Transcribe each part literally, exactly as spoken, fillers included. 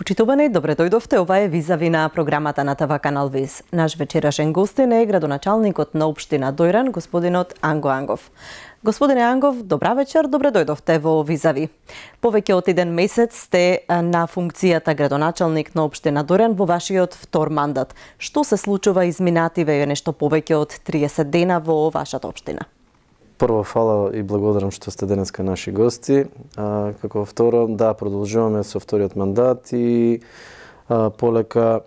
Почитувани, добре дојдовте. Ова е Визави на програмата на ТВ канал Виз. Наш вечерашен гостин е градоначалникот на општина Дојран, господинот Анго Ангов. Господине Ангов, добра вечер, добре дојдовте во Визави. Повеќе од еден месец сте на функцијата градоначалник на општина Дојран во вашиот втор мандат. Што се случува изминативе нешто повеќе од триесет дена во вашата општина? Прво, фала и благодарам што сте денеска наши гости. А, како второ, да, продолжуваме со вториот мандат и а, полека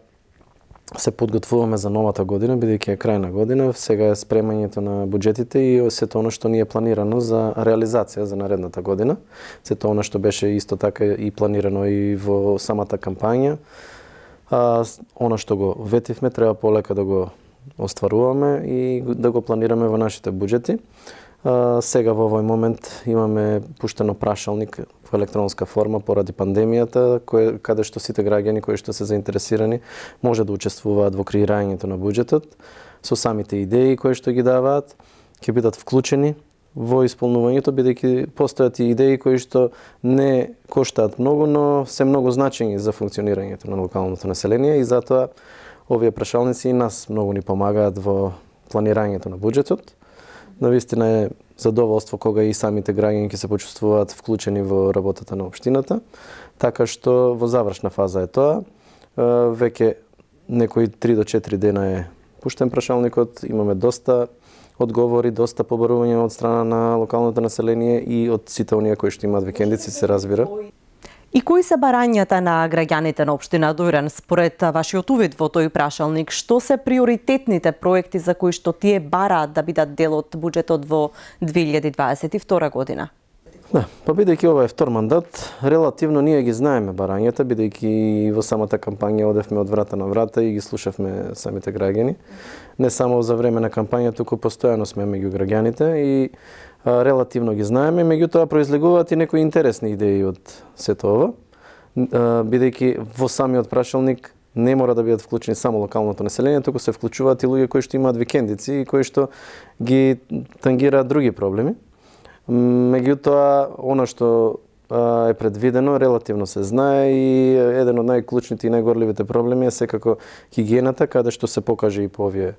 се подготвуваме за новата година, бидејќи е крајна година. Сега е спремањето на буџетите и сето она што ни е планирано за реализација за наредната година. Сето она што беше исто така и планирано и во самата кампања. А, она што го ветивме, треба полека да го остваруваме и да го планираме во нашите буџети. Uh, сега во овој момент имаме пуштено прашалник во електронска форма поради пандемијата, кој, каде што сите граѓани кои што се заинтересирани може да учествуваат во креирањето на буџетот со самите идеи кои што ги даваат, ќе бидат вклучени во исполнувањето, бидејќи постојат и идеи кои што не коштаат многу, но се многу значени за функционирањето на локалното население и затоа овие прашалници и нас многу ни помагаат во планирањето на буџетот. Навистина е задоволство кога и самите граѓани ќе се почувствуваат вклучени во работата на општината, така што во завршна фаза е тоа. Веќе некои три до четири дена е пуштен прашалникот, имаме доста одговори, доста побарувања од страна на локалното население и од сите оние кои што имаат викендици, се разбира. И кои се барањата на граѓаните на општина Дојран според вашиот увид во тој прашалник? Што се приоритетните проекти за кои што тие бараат да бидат дел од буџетот во две илјади дваесет и втора година? Да, па бидејќи ова е втор мандат, релативно ние ги знаеме барањата, бидејќи во самата кампања одевме од врата на врата и ги слушавме самите граѓани. Не само за време на кампања, туку постојано сме меѓу граѓаните и а, релативно ги знаеме, меѓутоа произлегуваат и некои интересни идеи од сето ова, бидејќи во самиот прашалник не мора да бидат вклучени само локалното население, туку се вклучуваат и луѓе кои што имаат викендици и кои што ги тангираат други проблеми. Меѓутоа, она што а, е предвидено, релативно се знае и еден од најклучните и најгорливите проблеми е секако хигиената, каде што се покаже и по овие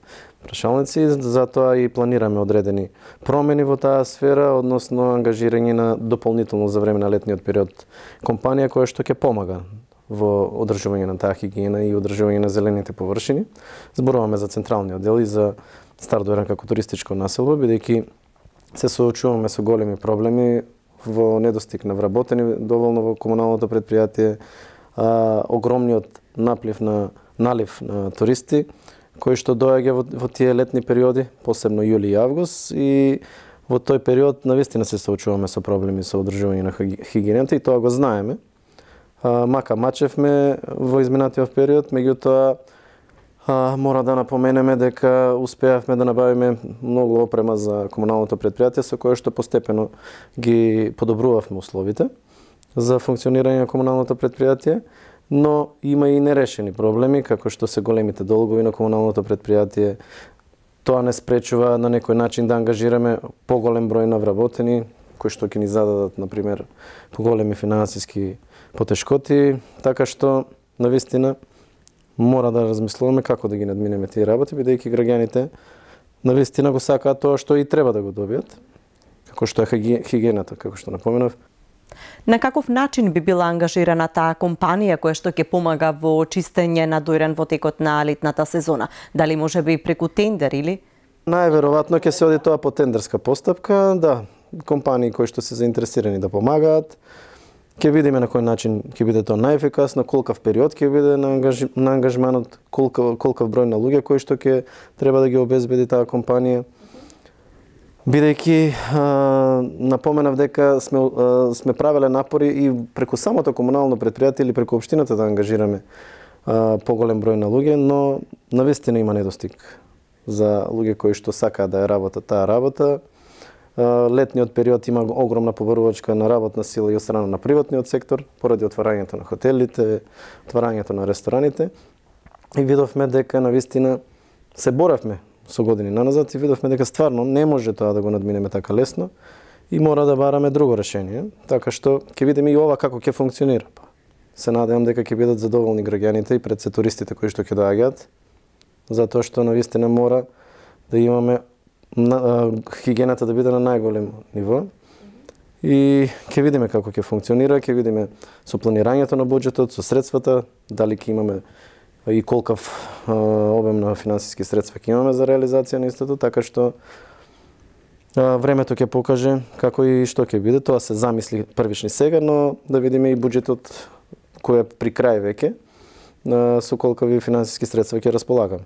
прашалници. Затоа и планираме одредени промени во таа сфера, односно ангажирање на дополнително за време на летниот период компанија која што ќе помага во одржување на таа хигиена и одржување на зелените површини. Зборуваме за централниот дел и за Стар Дојран како туристичко населба, бидејќи се соочуваме со големи проблеми во недостиг на вработени доволно во комуналното предпријатие, а, огромниот наплив на налив на туристи кои што доаѓа во, во тие летни периоди, посебно јули и август, и во тој период навистина се соочуваме со проблеми со одржување на хигиената и тоа го знаеме. А, мака мачевме во изминатиот период, меѓутоа А, мора да напоменеме дека успеавме да набавиме многу опрема за комуналното предпријатие со кое што постепено ги подобрувавме условите за функционирање на комуналното предпријатие, но има и нерешени проблеми, како што се големите долгови на комуналното предпријатие. Тоа не спречува на некој начин да ангажираме поголем број на вработени, кои што ќе ни зададат, например, поголеми финансиски потешкоти, така што, навистина, мора да размислуваме како да ги надминеме тие работи, бидејќи граѓаните навистина го сакаат тоа што и треба да го добијат, како што е хигиената, како што напоменав. На каков начин би била ангажирана таа компанија која што ќе помага во чистење на Дојран во текот на летната сезона? Дали може би преку тендер или? Најверојатно ќе се оди тоа по тендерска постапка, да, компании кои што се заинтересирани да помагаат. Ќе видиме на кој начин ќе биде тоа најефикасно, колкав период ќе биде на, ангаж... на ангажманот, колкав, колкав број на луѓе кои што ќе треба да ги обезбеди таа компанија. Бидејќи напоменав дека сме а, сме правеле напори и преку самото комунално предпријатие или преку општината да ангажираме а, поголем број на луѓе, но навистина има недостиг за луѓе кои што сакаат да ја работат таа работа. Летниот период има огромна побарувачка на работна сила и од страна на приватниот сектор, поради отварањето на хотелите, отварањето на рестораните. И видовме дека навистина се боравме со години наназад и видовме дека стварно не може тоа да го надминеме така лесно и мора да бараме друго решение, така што ќе видиме и ова како ќе функционира. се надевам дека ќе бидат задоволни граѓаните и пред се туристите кои што ќе доаѓаат, затоа што навистина мора да имаме на, хигиената да биде на најголемо ниво. И ќе видиме како ќе функционира, ќе видиме со планирањето на буџетот, со средствата, дали ќе имаме и колкав а, обем на финансиски средства ќе имаме за реализација на истото, така што а, времето ќе покаже како и што ќе биде. Тоа се замисли првични сега, но да видиме и буџетот кој е при крај веќе, а, со колкави финансиски средства ќе располагаме.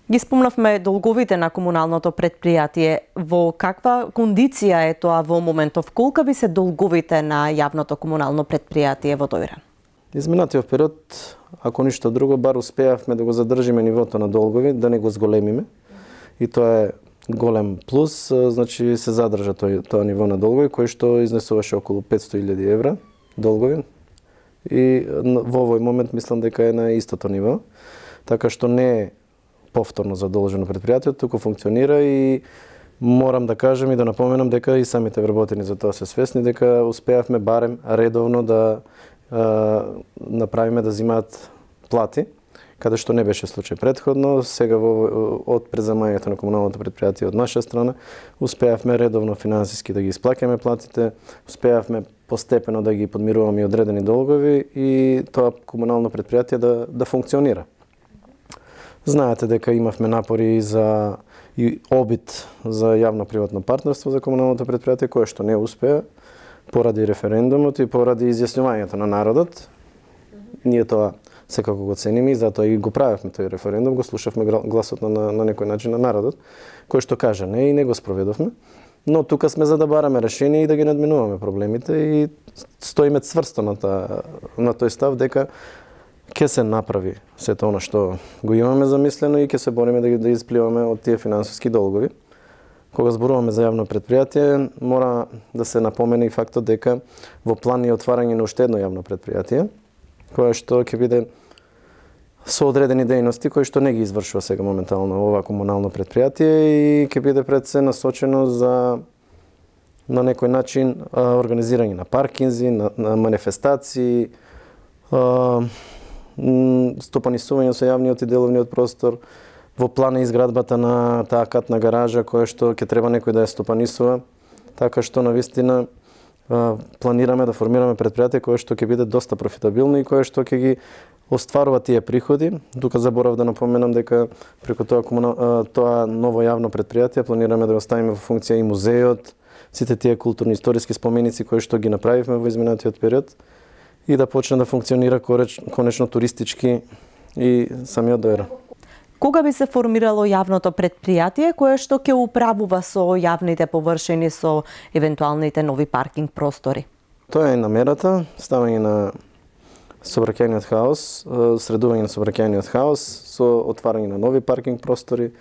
Ги спомнавме долговите на комуналното предпријатие. Во каква кондиција е тоа во моментов? Колкави се долговите на јавното комунално предпријатие во Дојран? Изминатиот период, ако ништо друго, бар успеавме да го задржиме нивото на долгови, да не го зголемиме. И тоа е голем плюс, значи се задржа тој, тоа ниво на долгови, кој што изнесуваше околу петсто илјади евра долгови. И во овој момент мислам дека е на истото ниво, така што не е повторно задолжено предпријатието, туку функционира и морам да кажам и да напоменам дека и самите вработени за тоа се свесни дека успеавме барем редовно да а, направиме да земаат плати, каде што не беше случај претходно. Сега во, од преземањето на комуналното предпријатие од наша страна успеавме редовно финансиски да ги исплаќаме платите, успеавме постепено да ги подмируваме и одредени долгови и тоа комунално предпријатие да да функционира. Знаете дека имавме напори за и обид за јавно-приватно партнерство за комуналното предпријатие, кое што не успеа поради референдумот и поради изјаснувањето на народот. Ние тоа секако го цениме и затоа и го правевме тој референдум, го слушавме гласот на, на, на некој начин на народот, кој што кажа не и не го спроведовме. Но тука сме за да бараме решение и да ги надминуваме проблемите и стоиме цврсто на, та, на тој став дека ќе се направи сето она што го имаме замислено и ќе се бориме да ги да испливаме од тие финансиски долгови. Кога зборуваме за јавно предпријатие, мора да се напомене и фактот дека во план е отварање на уште едно јавно предпријатие, кое што ќе биде со одредени дејности кои што не ги извршува сега моментално ова комунално предпријатие и ќе биде пред се насочено за на некој начин организирање на паркинзи, на, на манифестации, стопанисување со јавниот и деловниот простор. Во план е изградбата на таа катна гаража која што ќе треба некој да ја стопанисува, така што навистина планираме да формираме предпријатие кое што ќе биде доста профитабилно и кое што ќе ги остварува тие приходи. Тука заборав да напоменам дека преку тоа комунал, тоа ново јавно предпријатие планираме да го ставиме во функција и музејот, сите тие културни историски споменици кои што ги направивме во изминатиот период и да почне да функционира конечно туристички и самиот Дојран. Кога би се формирало јавното предпријатие кое што ќе управува со јавните површини, со евентуалните нови паркинг простори? Тоа е намерата, ставање на сообраќајниот хаос, средување на сообраќајниот хаос со отварање на нови паркинг простори,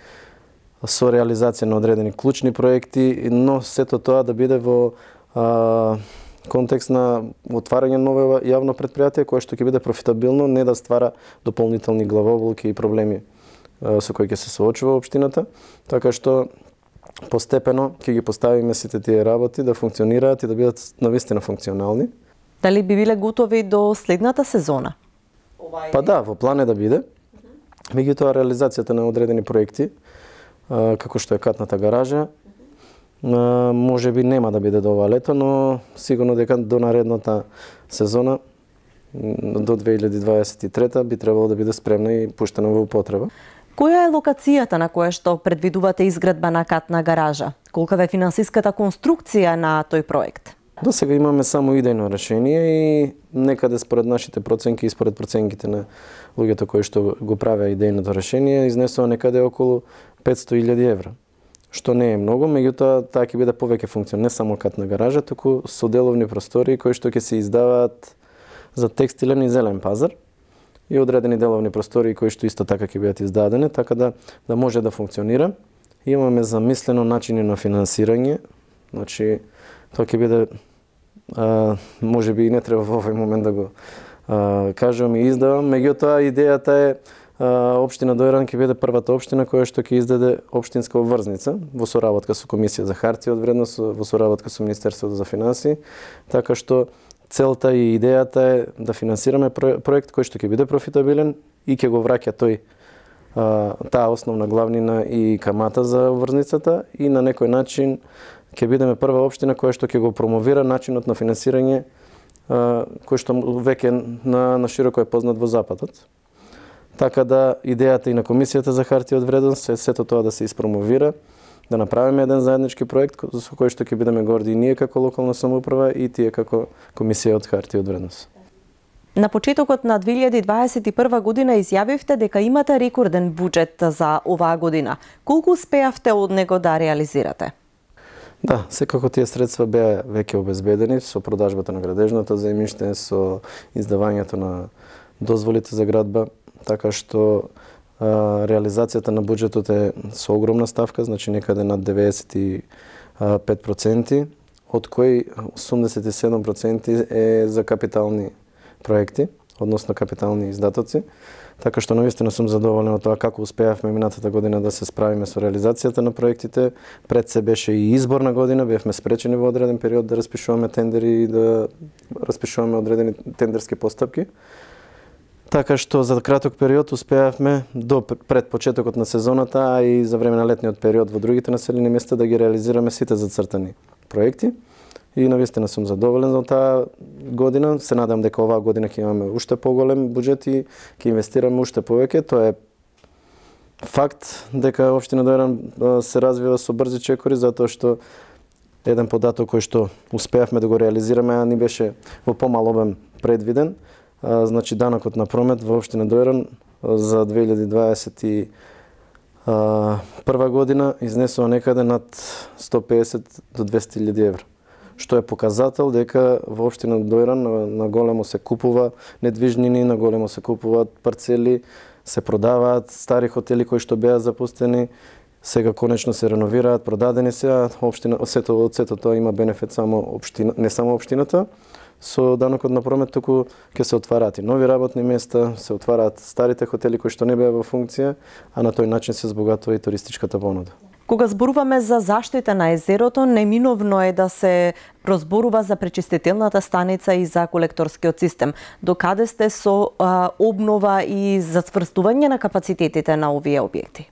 со реализација на одредени клучни проекти, но сето тоа да биде во а, контекст на отварање на ново јавно предпријатие кое што ќе биде профитабилно, не да ствара дополнителни главоболки и проблеми со кои ќе се соочува општината, така што постепено ќе ги поставиме сите тие работи да функционираат и да бидат навистина функционални. Дали би биле готови до следната сезона? Па да, во план е да биде. Меѓутоа реализацијата на одредени проекти, како што е катната гаража, може би нема да биде до ова лето, но сигурно дека до наредната сезона, до две илјади дваесет и трета, би требало да биде спремна и пуштена во употреба. Која е локацијата на која што предвидувате изградба на катна гаража? Колкава е финансиската конструкција на тој проект? До сега имаме само идејно решение и некаде според нашите проценки и според проценките на луѓето кои што го правеа идејното решение, изнесува некаде околу петсто илјади евра. Што не е многу, меѓутоа таа ќе биде повеќе функционална, не само катна гаража, туку со деловни простори кои што ќе се издаваат за текстилен и зелен пазар и одредени деловни простори кои што исто така ќе бидат издадени, така да да може да функционира. Имаме замислено начини на финансирање, значи тоа ќе биде а, може би и не треба во овој момент да го а, кажам и издавам, меѓутоа идејата е а, општина Дојран ќе биде првата општина која што ќе издаде општинска обврзница во соработка со Комисија за хартија од вредност, во соработка со Министерството за финансии, така што целта и идејата е да финансираме проект кој што ќе биде профитабилен и ќе го враќа тој таа основна главнина и камата за обврзницата и на некој начин ќе бидеме прва општина која што ќе го промовира начинот на финансирање кој што веќе на, на широко е познат во Западот. Така да идејата и на Комисијата за хартија од вредност е сето тоа да се испромовира, да направиме еден заеднички проект со кој што ќе бидеме горди и ние како локална самоуправа и тие како Комисија од хартија од вредност. На почетокот на две илјади дваесет и прва година изјавивте дека имате рекорден буџет за оваа година. Колку успеавте од него да реализирате? Да, секако тие средства беа веќе обезбедени со продажбата на градежното земјиште, со издавањето на дозволите за градба, така што а, реализацијата на буџетот е со огромна ставка, значи некаде над деветдесет и пет проценти, од кои осумдесет и седум проценти е за капитални проекти, односно капитални издатоци. Така што навистина сум задоволен од тоа како успеавме минатата година да се справиме со реализацијата на проектите. Пред се беше и изборна година, бевме спречени во одреден период да распишуваме тендери и да распишуваме одредени тендерски постапки. Така што за краток период успеавме до пред почетокот на сезоната, а и за време на летниот период во другите населени места да ги реализираме сите зацртани проекти. И навистина сум задоволен за таа година. Се надам дека оваа година ќе имаме уште поголем буџет и ќе инвестираме уште повеќе. Тоа е факт дека општина Дојран се развива со брзи чекори, затоа што еден податок кој што успеавме да го реализираме, а ни беше во помал обем предвиден. А, значи данокот на промет во општина Дојран за две илјади дваесет и прва година изнесува некаде над сто пеесет до двесте илјади евра, што е показател дека во општина Дојран на, на големо се купува недвижнини, на големо се купуваат парцели, се продаваат стари хотели кои што беа запустени, сега конечно се реновираат, продадени се, а општина сето од сето тоа има бенефит само општина, не само општината. Со данокот на промет туку ќе се отвараат и нови работни места, се отвараат старите хотели кои што не беа во функција, а на тој начин се збогатува и туристичката понуда. Кога зборуваме за заштита на езерото, неминовно е да се прозборува за пречистителната станица и за колекторскиот систем. Докаде сте со а, обнова и зацврстување на капацитетите на овие објекти?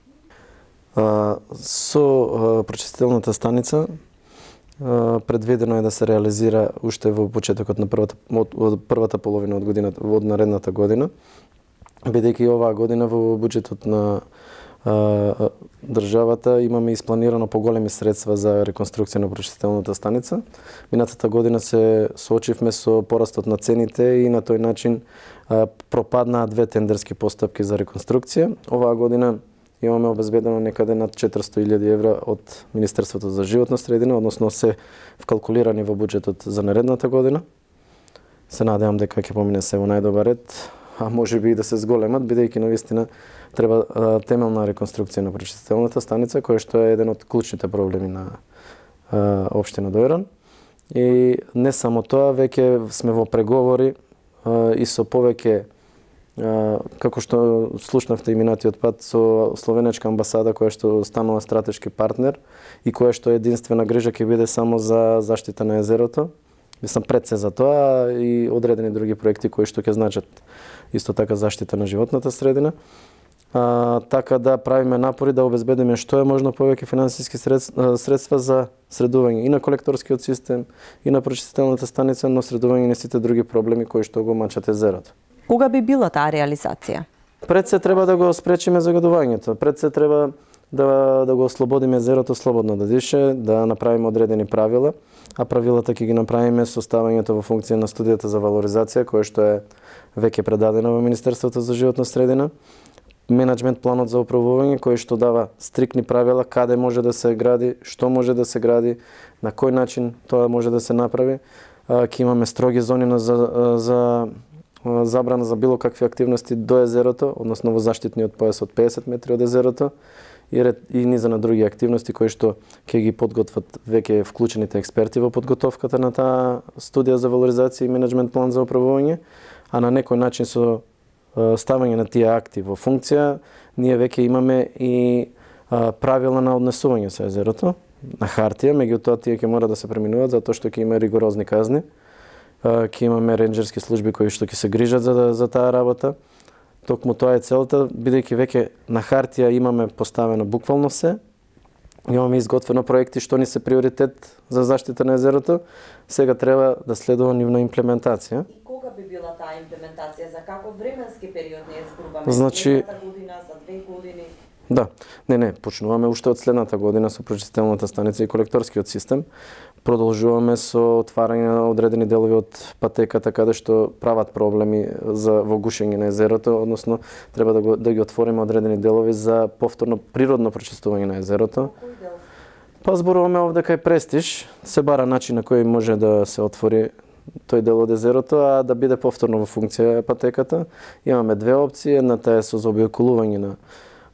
А, со а, пречистителната станица а, предвидено е да се реализира уште во почетокот на првата, од првата половина од годината, од наредната година, бидејќи оваа година во буџетот на државата имаме испланирано поголеми средства за реконструкција на пречистителната станица. Минатата година се соочивме со порастот на цените и на тој начин а, пропаднаа две тендерски постапки за реконструкција. Оваа година имаме обезбедено некаде над четиристо илјади евра од Министерството за животна средина, односно се вкалкулирани во буџетот за наредната година. Се надевам дека ќе помине се во најдобар ред, а може би и да се зголемат, бидејќи навистина треба а, темелна реконструкција на пречистителната станица, која што е еден од клучните проблеми на а, општина Дојран. И не само тоа, веќе сме во преговори а, и со повеќе, а, како што слушнавте и минатиот пат, со словенечка амбасада која што станува стратешки партнер и која што единствена грижа ќе биде само за заштита на езерото. Мислам пред се за тоа и одредени други проекти кои што ќе значат исто така заштита на животната средина. А, така да правиме напори да обезбедиме што е можно повеќе финансиски средства, средства за средување и на колекторскиот систем, и на пречистителната станица, но средување на сите други проблеми кои што го мачат езерото. Кога би била таа реализација? Пред се треба да го спречиме загадувањето. Пред се треба да, да го ослободиме езерото слободно да дише, да направиме одредени правила, а правилата ќе ги направиме со ставањето во функција на студијата за валоризација, која што е веќе предадена во Министерството за животна средина, менеджмент планот за управување кој што дава стрикни правила каде може да се гради, што може да се гради, на кој начин тоа може да се направи. Ќе имаме строги зони за, за забрана за било какви активности до езерото, односно во заштитниот појас од пеесет метри од езерото и, ред, и низа на други активности кои што ќе ги подготват веќе вклучените експерти во подготовката на таа студија за валоризација и менеджмент план за управување, а на некој начин со ставање на тие акти во функција, ние веќе имаме и а, правила на однесување со езерото на хартија, меѓутоа тие ќе мора да се преминуваат затоа што ќе има ригорозни казни. ќе имаме ренџерски служби кои што ќе се грижат за за таа работа. Токму тоа е целта, бидејќи веќе на хартија имаме поставено буквално се, имаме изготвено проекти што ни се приоритет за заштита на езерото, сега треба да следува нивна имплементација. И кога би била таа имплементација? За каков временски период не зборуваме? Значи, следната година, за две години? Да, не, не, почнуваме уште од следната година со прочистителната станица и колекторскиот систем. Продолжуваме со отварање на одредени делови од патеката каде што прават проблеми за во гушење на езерото, односно треба да, го, да ги отвориме одредени делови за повторно природно прочистување на езерото. Кој дел? Па зборуваме овде кај Престиж, се бара начин на кој може да се отвори тој дел од езерото, а да биде повторно во функција патеката. Имаме две опции, едната е со заобиколување на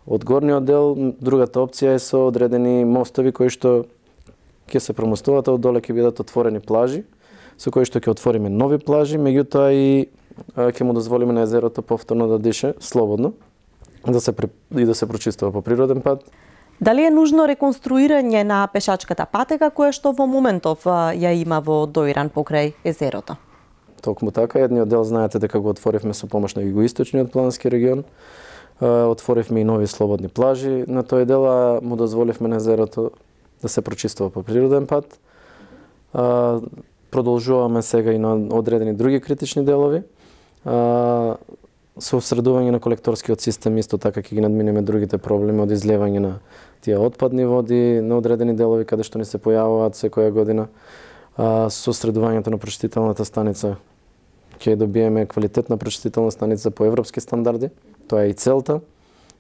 од горниот дел, другата опција е со одредени мостови кои што ќе се промостуваат, а од доле ќе бидат отворени плажи, со кои што ќе отвориме нови плажи, меѓутоа и ќе му дозволиме на езерото повторно да дише слободно, да се и да се прочистува по природен пат. Дали е нужно реконструирање на пешачката патека која што во моментов ја има во Доиран покрај езерото? Токму така, едниот дел знаете дека го отворивме со помош на југоисточниот планински регион. Отворивме и нови слободни плажи на тој дел, а му дозволивме на езерото да се прочистува по природен пат. Продолжуваме сега и на одредени други критични делови. Со осредување на колекторскиот систем исто така ќе ги надминеме другите проблеми од излевање на тие отпадни води на одредени делови каде што ни се појавуваат секоја година. Со осредувањето на прочистителната станица ќе добиеме квалитетна прочистителна станица по европски стандарди. Тоа е и целта.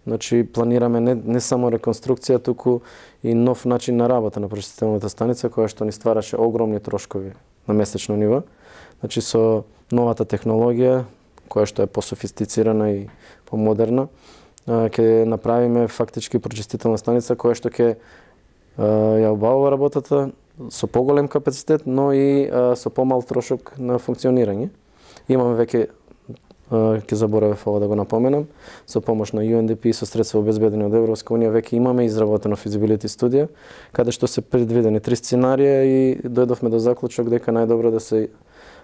Значи планираме не, не само реконструкција, туку и нов начин на работа на прочистителната станица која што ни ствараше огромни трошкови на месечно ниво. Значи со новата технологија која што е пософистицирана и помодерна, ќе направиме фактички прочистителна станица која што ќе ја обавува работата со поголем капацитет, но и со помал трошок на функционирање. Имаме веќе, ќе заборавев ова да го напоменам, со помош на Ю Ен Ди Пи и со средства обезбедени од Европска унија веќе имаме изработено физибилити студија, каде што се предвидени три сценарија и дојдовме до заклучок дека најдобро да се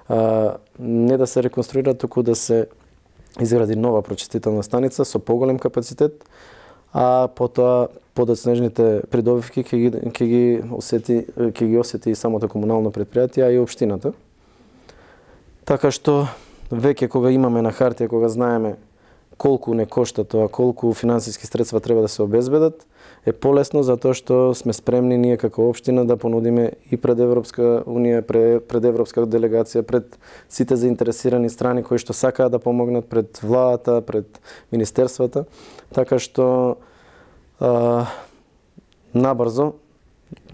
а, не да се реконструира, туку да се изгради нова прочистителна станица со поголем капацитет, а потоа подоцнежните придобивки ќе ги ќе ги осети ќе ги осети и самото комунално претпријатие, а и општината. Така што веќе кога имаме на хартија, кога знаеме колку не кошта тоа, колку финансиски средства треба да се обезбедат, е полесно затоа што сме спремни ние како општина да понудиме и пред Европска унија, пред, пред Европска делегација, пред сите заинтересирани страни кои што сакаат да помогнат, пред владата, пред министерствата. Така што а, набрзо,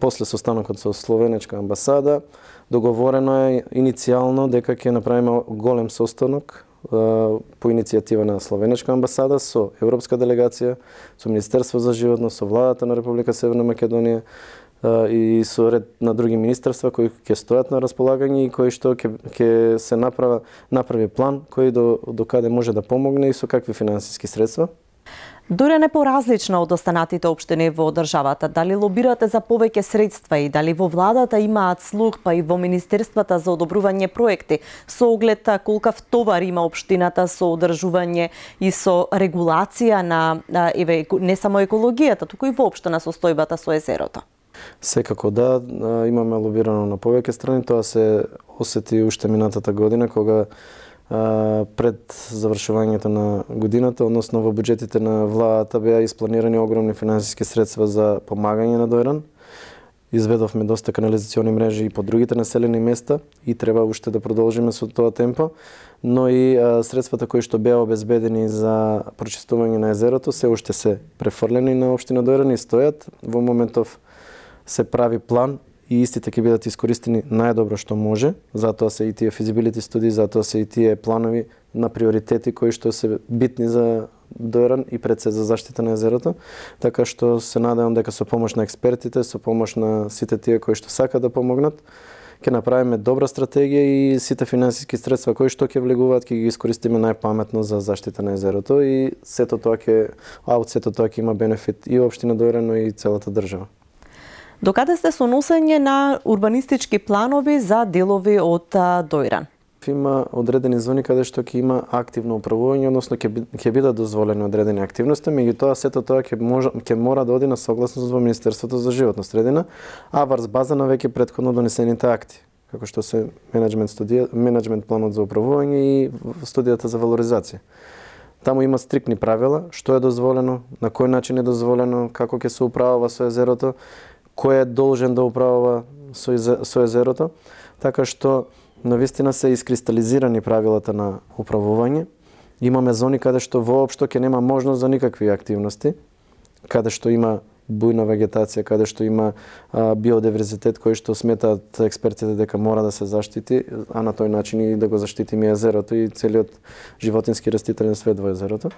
после состанокот со Словенечка амбасада, договорено е иницијално дека ќе направиме голем состанок по иницијатива на Словенечка амбасада со Европска делегација, со Министерство за животно, со владата на Република Северна Македонија и со ред на други министерства кои ќе стојат на располагање и кои што ќе ќе се направи направи план кој до до каде може да помогне и со какви финансиски средства. Доиран е поразлична од останатите општини во државата. Дали лобирате за повеќе средства и дали во владата имаат слух, па и во министерствата за одобрување проекти, со оглед колкав товар има општината со одржување и со регулација на, еве, не само екологијата, туку и воопшто на состојбата со езерото? Секако да, имаме лобирано на повеќе страни, тоа се осети уште минатата година кога пред завршувањето на годината, односно во буџетите на владата беа испланирани огромни финансиски средства за помагање на Доиран. Изведовме доста канализациони мрежи и по другите населени места и треба уште да продолжиме со тоа темпо, но и а, средствата кои што беа обезбедени за прочистување на езерото се уште се префрлени на општина Доиран и стојат. Во моментов се прави план и истите ќе бидат искористени најдобро што може, затоа се и тие физибилити студии, затоа се и тие планови на приоритети кои што се битни за Доиран и пред се за заштита на езерото, така што се надевам дека со помош на експертите, со помош на сите тие кои што сакаат да помогнат, ќе направиме добра стратегија и сите финансиски средства кои што ќе влегуваат ќе ги искористиме најпаметно за заштита на езерото и сето тоа ќе, а од сето тоа ќе има бенефит и општина Доиран, но и целата држава. Докаде сте со носење на урбанистички планови за делови од Доиран? има одредени зони каде што ќе има активно управување, односно ќе ќе бидат дозволени одредени активности, меѓутоа сето тоа ќе може ќе мора да оди на согласност во Министерството за животна средина, а врз база на веќе претходно донесените акти, како што се менеджмент студија, менеджмент планот за управување и студијата за валоризација. Таму има стрикни правила, што е дозволено, на кој начин е дозволено, како ќе се управува со езерото, кој е должен да управува со, со езерото, така што навистина се искристализирани правилата на управување. Имаме зони каде што воопшто ќе нема можност за никакви активности, каде што има бујна вегетација, каде што има а, биодиверзитет кој што сметаат експертите дека мора да се заштити, а на тој начин и да го заштитиме езерото и целиот животински растителен свет во езерото.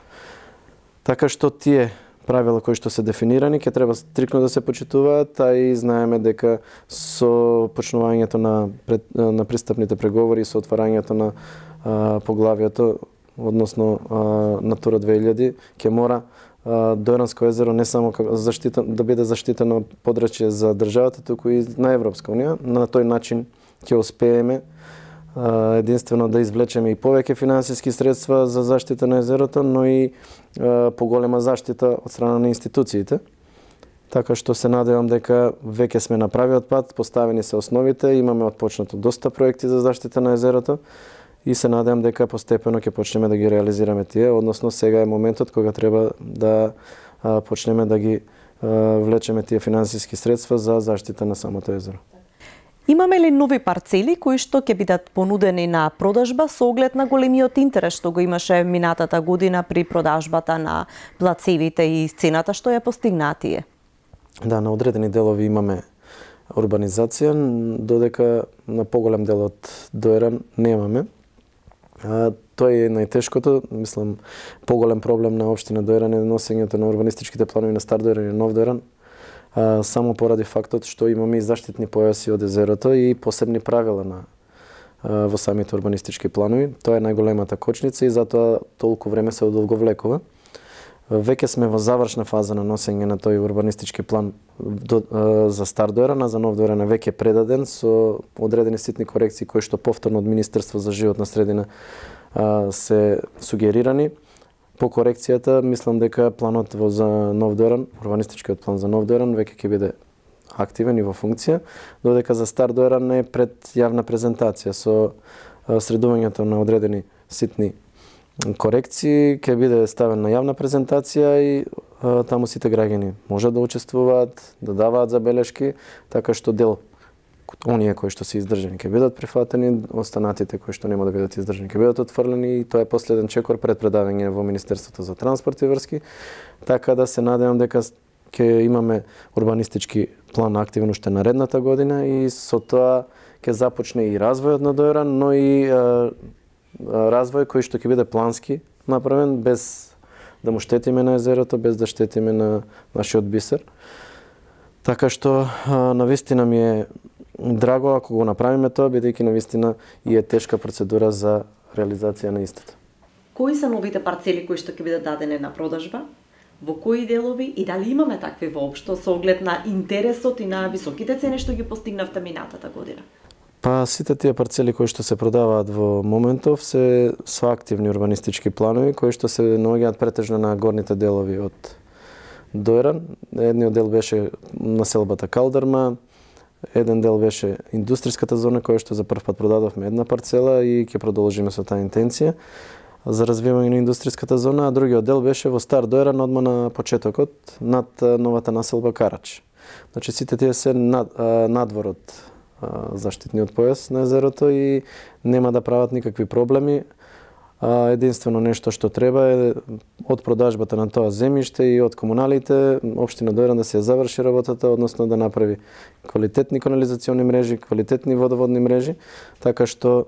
Така што тие правила кои што се дефинирани ќе треба стрикно да се почитуваат, а и знаеме дека со почнувањето на пред, на пристапните преговори, со отварањето на а, поглавието, односно а, Натура две илјади, ќе мора а, Дојранско езеро не само заштита, да биде заштитено подрачје за државата, туку и на Европска унија. На тој начин ќе успееме единствено да извлечеме и повеќе финансиски средства за заштита на езерото, но и поголема заштита од страна на институциите. Така што се надевам дека веќе сме на правиот пат, поставени се основите, имаме отпочнато доста проекти за заштита на езерото и се надевам дека постепено ќе почнеме да ги реализираме тие, односно сега е моментот кога треба да почнеме да ги влечеме тие финансиски средства за заштита на самото езеро. Имаме ли нови парцели кои што ќе бидат понудени на продажба со оглед на големиот интерес што го имаше минатата година при продажбата на плацевите и цената што ја постигнатие? Да, на одредени делови имаме урбанизација, додека на поголем дел од Дојран немаме. А, тоа е најтешкото, мислам, поголем проблем на општина Дојран е носењето на урбанистичките планови на Стар Дојран и Нов Дојран. А, само поради фактот што имаме и заштитни појаси од езерото и посебни правила на а, во самите урбанистички планови. Тоа е најголемата кочница и затоа толку време се одолговлекува. Веќе сме во завршна фаза на носење на тој урбанистички план до, а, за Стар Дојран, а за Нов Дојран е веќе предаден со одредени ситни корекции кои што повторно од Министерство за животна средина а, се сугерирани. По корекцијата, мислам дека планот во за Нов Дојран, урбанистичкиот план за Нов Дојран веќе ќе биде активен и во функција, додека за Стар Дојран е пред јавна презентација со средувањето на одредени ситни корекции, ќе биде ставен на јавна презентација и а, таму сите граѓани можат да учествуваат, да даваат забелешки, така што дел оние кои што се издржани ќе бидат прифатени, останатите кои што нема да бидат издржани ќе бидат отфрлени и тоа е последен чекор пред предавање во Министерството за транспорт и врски, така да се надевам дека ќе имаме урбанистички план активен уште наредната година и со тоа ќе започне и развојот на Дојран, но и а, развој кој што ќе биде плански направен, без да му штетиме на езерото, без да штетиме на нашиот бисер. Така што навистина ми е драго ако го направиме тоа, бидејќи навистина и е тешка процедура за реализација на истото. Кои се новите парцели кои што ќе бидат дадени на продажба? Во кои делови и дали имаме такви воопшто со оглед на интересот и на високите цени што ги постигнавте минатата година? Па сите тие парцели кои што се продаваат во моментов се со активни урбанистички планови кои што се наоѓаат претежно на горните делови од Дојран. Едниот дел беше населбата Калдарма, еден дел беше индустријската зона која што за прв пат продадовме една парцела и ќе продолжиме со таа интенција за развивање на индустријската зона, а другиот дел беше во Стар Дојран одма на почетокот над новата населба Карач. Значи сите тие се над, надвор од заштитниот појас на езерото и нема да прават никакви проблеми. А, единствено нешто што треба е од продажбата на тоа земјиште и од комуналите, општина Дојран да се заврши работата, односно да направи квалитетни канализациони мрежи, квалитетни водоводни мрежи, така што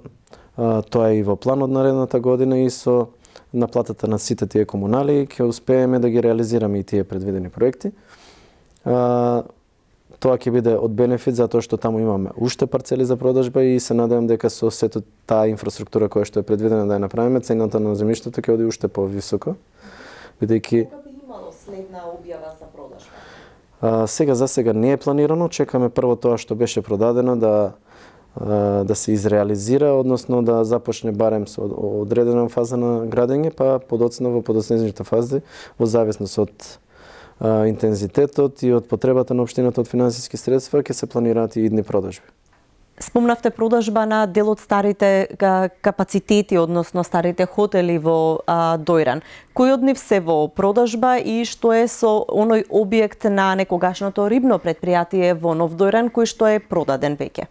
а, тоа е и во планот наредната година и со наплатата на сите тие комунали ќе успееме да ги реализираме и тие предвидени проекти. А, Тоа ќе биде од бенефит затоа што таму имаме уште парцели за продажба и се надевам дека со сето таа инфраструктура која што е предвидена да ја направиме, цената на земјиштето ќе оди уште повисоко, бидејќи кога би имало следна објава за продажба? А, сега за сега не е планирано, чекаме прво тоа што беше продадено да да се изреализира, односно да започне барем со одредена фаза на градење, па подоцна во подоцнежните фази, во зависност од а, интензитетот и од потребата на општината од финансиски средства, ќе се планираат и идни продажби. Спомнавте продажба на дел од старите капацитети, односно старите хотели во а, Дојран. Кои од нив се во продажба и што е со оној објект на некогашното рибно предпријатие во Нов Дојран, кој што е продаден веќе?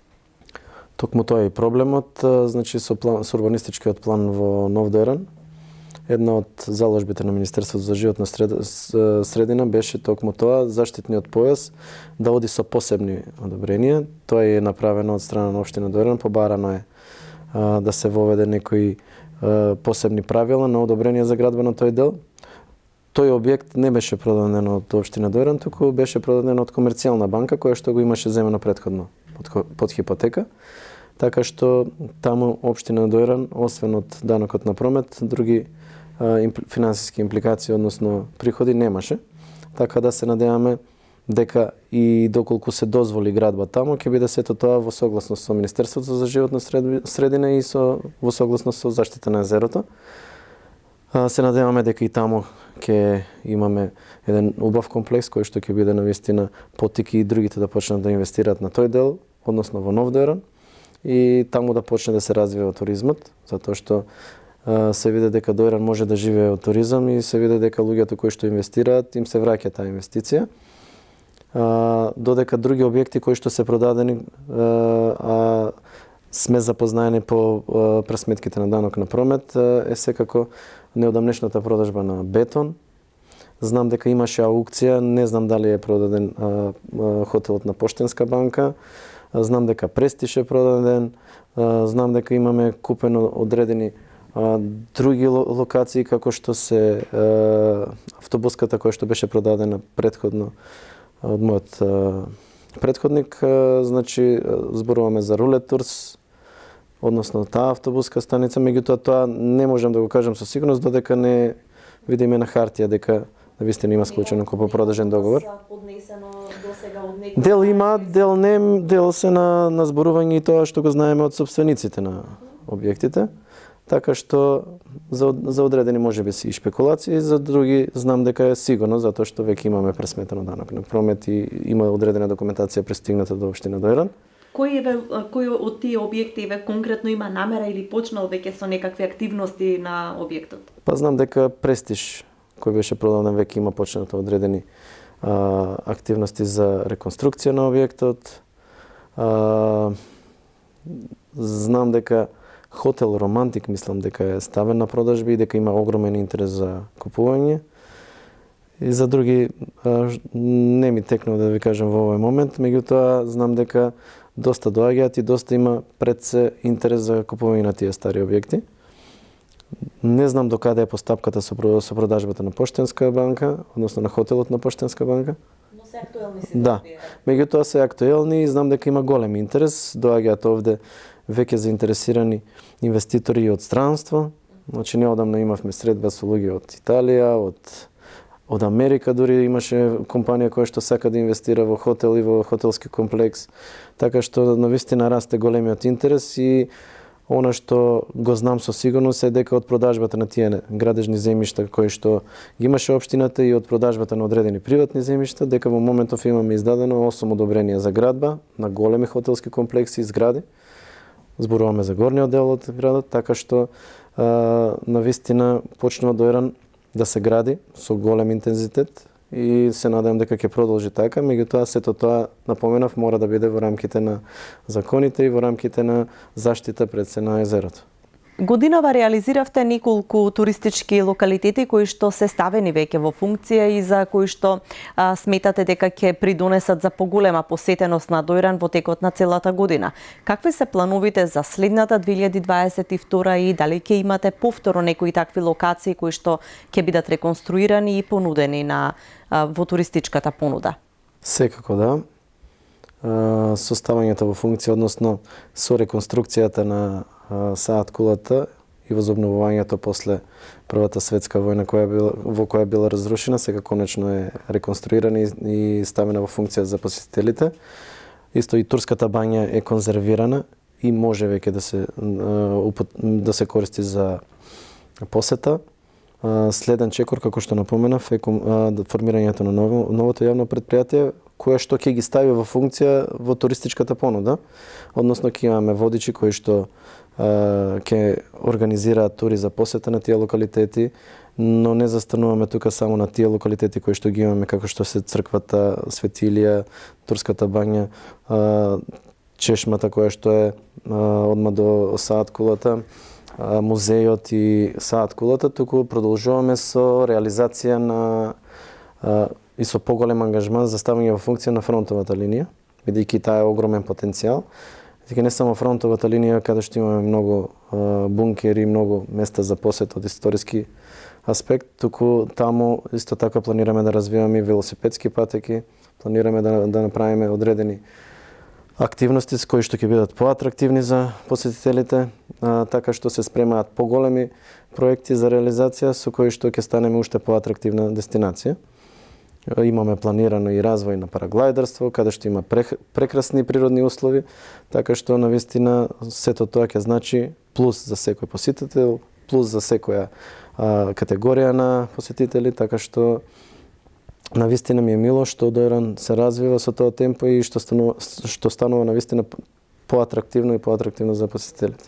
Токму тоа е и проблемот, значи со, план, со урбанистичкиот план во Нов Дојран. Една од заложбите на Министерството за животна средина беше токму тоа, заштитниот појас да оди со посебни одобренија. Тоа е направено од страна на општина Дојран, побарано е а, да се воведе некои а, посебни правила на одобрение за градба на тој дел. Тој објект не беше продаден од општина Дојран, туку беше продаден од комерцијална банка која што го имаше земено претходно под, под хипотека. Така што таму општина Дојран, освен од данокот на промет, други финансиски импликации, односно приходи, немаше. Така да се надеваме дека и доколку се дозволи градба таму, ќе биде сето тоа во согласност со Министерството за животна средина и со во согласност со заштита на езерото. Се надеваме дека и таму ќе имаме еден убав комплекс кој што ќе биде навистина потики и другите да почнат да инвестираат на тој дел, односно во Нов Дојран, и таму да почне да се развива туризмот, затоа што се види дека Дојран може да живее од туризам и се види дека луѓето кои што инвестираат им се враќа таа инвестиција. А, додека други објекти кои што се продадени, а, а сме запознаени по а, пресметките на данок на промет, а, е секако неодамнешната продажба на Бетон. Знам дека имаше аукција, не знам дали е продаден а, а, хотелот на Поштенска банка, а, знам дека Престиж е продаден, а, знам дека имаме купено одредени А, други локации, како што се а, автобуската која што беше продадена предходно од мојот а, предходник, а, значи зборуваме за Рулет Турс, односно таа автобуска станица, меѓутоа тоа не можам да го кажам со сигурност додека не видиме на хартија дека навистина има склучен купопродажен договор. Дел има, дел не, дел се на, на зборување и тоа што го знаеме од собствениците на објектите. Така што за, за одредени може би си и спекулации, за други знам дека е сигурно, затоа што веќе имаме пресметено данок на промет и има одредена документација пристигната до општина Дојран. Кој е кој од тие објекти еве конкретно има намера или почнал веќе со некакви активности на објектот? Па знам дека Престиж кој беше продаден веќе има почнато одредени а, активности за реконструкција на објектот. А, знам дека Хотел Романтик, мислам дека е ставен на продажби и дека има огромен интерес за купување. И за други а, не ми текнува да ви кажам во овој момент, меѓутоа знам дека доста доаѓаат и доста има пред се интерес за купување на тие стари објекти. Не знам до каде е постапката со, со продажбата на Поштенска банка, односно на хотелот на Поштенска банка. Но се актуелни си. Да, меѓутоа се актуелни и знам дека има голем интерес, доаѓаат овде веќе заинтересирани инвеститори и од странство. Значи неодамна имавме средба со луѓе од Италија, од од Америка, дури имаше компанија која што сака да инвестира во хотел и во хотелски комплекс. Така што навистина расте големиот интерес и она што го знам со сигурност е дека од продажбата на тие градежни земјишта кои што ги имаше општината и од продажбата на одредени приватни земјишта, дека во моментов имаме издадено осум одобренија за градба на големи хотелски комплекси и згради. Зборуваме за горниот дел од градот, така што а, навистина почнува Дојран да се гради со голем интензитет и се надевам дека ќе продолжи така, меѓутоа сето тоа, напоменав, мора да биде во рамките на законите и во рамките на заштита пред се на езерото. Годинава реализиравте неколку туристички локалитети кои што се ставени веќе во функција и за кои што а, сметате дека ќе придонесат за поголема посетеност на Дојран во текот на целата година. Какви се плановите за следната две илјади дваесет и втора и дали ќе имате повторно некои такви локации кои што ќе бидат реконструирани и понудени на а, во туристичката понуда? Секако да. Со ставањето во функција, односно со реконструкцијата на Саат кулата и возобновувањето после Првата светска војна која била, во која била разрушена, сега конечно е реконструирана и ставена во функција за посетителите. Исто и турската бања е конзервирана и може веќе да се да се користи за посета. Следен чекор, како што напоменав, е формирањето на ново, новото јавно предпријатие, кое што ќе ги стави во функција во туристичката понуда, односно ќе имаме водичи кои што ќе организираат тури за посета на тие локалитети, но не застануваме тука само на тие локалитети кои што ги имаме, како што се црквата Свети Илија, Турската бања, чешмата која што е одма до Саат кулата, музејот и Саат кулата, туку продолжуваме со реализација на и со поголем ангажман за ставање во функција на фронтовата линија, бидејќи таа е огромен потенцијал. Дека не само фронтовата линија, каде што имаме многу бункери, многу места за посет од историски аспект, туку таму исто така планираме да развиваме велосипедски патеки, планираме да, да направиме одредени активности кои што ќе бидат поатрактивни за посетителите, а, така што се спремаат поголеми проекти за реализација со кои што ќе станеме уште поатрактивна дестинација. Имаме планирано и развој на параглајдерство, каде што има прекрасни природни услови, така што навистина сето тоа ќе значи плюс за секој посетител, плюс за секоја а, категорија на посетители, така што навистина ми е мило што Дојран се развива со тоа темпо и што станува, што станува навистина поатрактивно и поатрактивно за посетителите.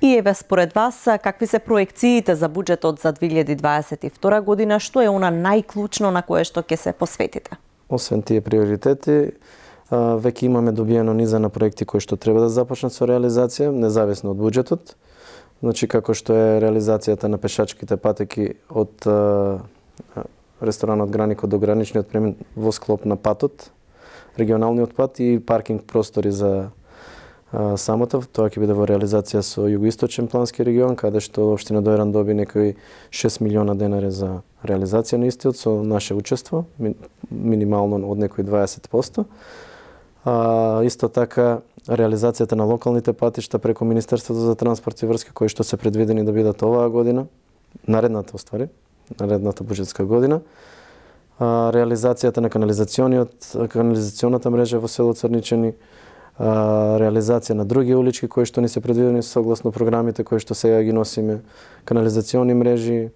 И еве според вас, какви се проекциите за буџетот за две илјади дваесет и втора година, што е она најклучно на кое што ќе се посветите? Освен тие приоритети, веќе имаме добиено низа на проекти кои што треба да започнат со реализација, независно од буџетот. Значи, како што е реализацијата на пешачките патеки од ресторанот Гранико до граничниот премин во склоп на патот, регионалниот пат и паркинг простори за Самотов. Тоа ќе биде во реализација со југоисточен плански регион, каде што општина Дојран доби некои шест милиона денари за реализација на истиот со наше учество, минимално од некои дваесет проценти. А, исто така реализацијата на локалните патишта преку Министерството за транспорт и врски, кои што се предвидени да бидат оваа година, наредната оствари, наредната буџетска година. А, реализацијата на канализациониот канализационата мрежа во село Црничани, а, реализација на други улички кои што ни се предвидени согласно програмите кои што сега ги носиме, канализациони мрежи,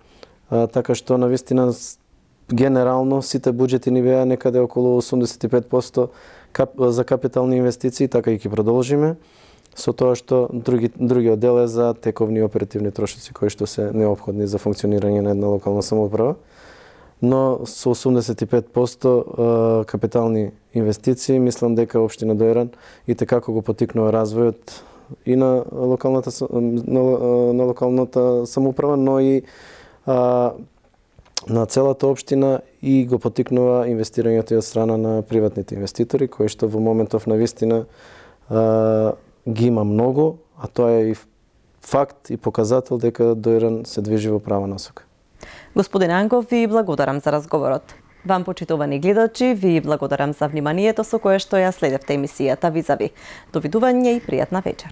а, така што навистина генерално сите буџети ни беа некаде околу осумдесет и пет проценти кап, за капитални инвестиции, така и ќе продолжиме, со тоа што други, другиот дел е за тековни оперативни трошоци кои што се неопходни за функционирање на една локална самоуправа. Но со осумдесет и пет проценти капитални инвестиции, мислам дека општина Дојран и tekako го потикнува развојот и на локалната на, на локалната самоуправа, но и а, на целата општина и го потикнува инвестирањето и од страна на приватните инвеститори, кои што во моментов навистина а, ги има многу, а тоа е и факт и показател дека Дојран се движи во права насока. Господин Ангов, ви благодарам за разговорот. Вам, почитувани гледачи, ви благодарам за вниманието со кое што ја следевте емисијата Визави. Довидување и пријатна вечер.